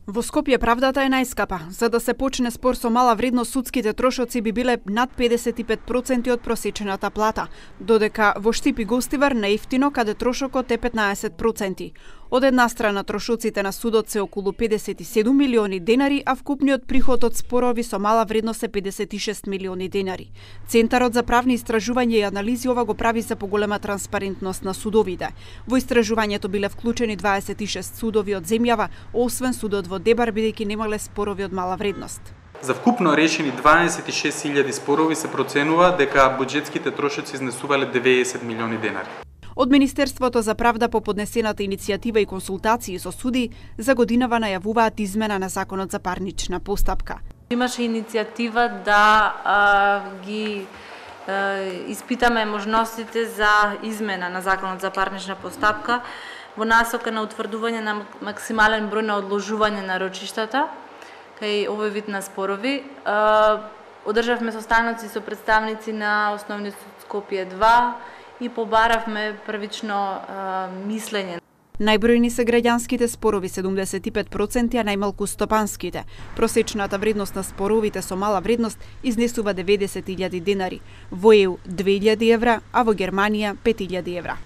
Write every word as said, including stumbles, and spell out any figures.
Во Скопје правдата е најскапа. За да се почне спор со мала вредност, судските трошоци би биле над педесет и пет проценти од просечената плата, додека во Штип и Гостивар наевтино, каде трошокот е петнаесет проценти. Од една страна трошоците на судот се околу педесет и седум милиони денари, а вкупниот приход од спорови со мала вредност е педесет и шест милиони денари. Центарот за правни истражувања и анализи ова го прави за поголема транспарентност на судовите. Во истражувањето биле вклучени дваесет и шест судови од земјава, освен судот во Дебар, бидејќи немале спорови од мала вредност. За вкупно решени дваесет и шест илјади спорови се проценува дека буџетските трошоци изнесувале деветдесет милиони денари. Од Министерството за правда по поднесената иницијатива и консултации со суди за годинава најавуваат измена на Законот за парнична постапка. Имаше иницијатива да а, ги а, испитаме можностите за измена на Законот за парнична постапка во насока на утврдување на максимален број на одложување на рочиштата кај овој вид на спорови. А, одржавме состаноци со представници на Основниот суд Скопје два и побаравме првично а, мислење. Најбројни се граѓанските спорови седумдесет и пет проценти, а најмалку стопанските. Просечната вредност на споровите со мала вредност изнесува деветдесет илјади денари, во Е У две илјади евра, а во Германија пет илјади евра.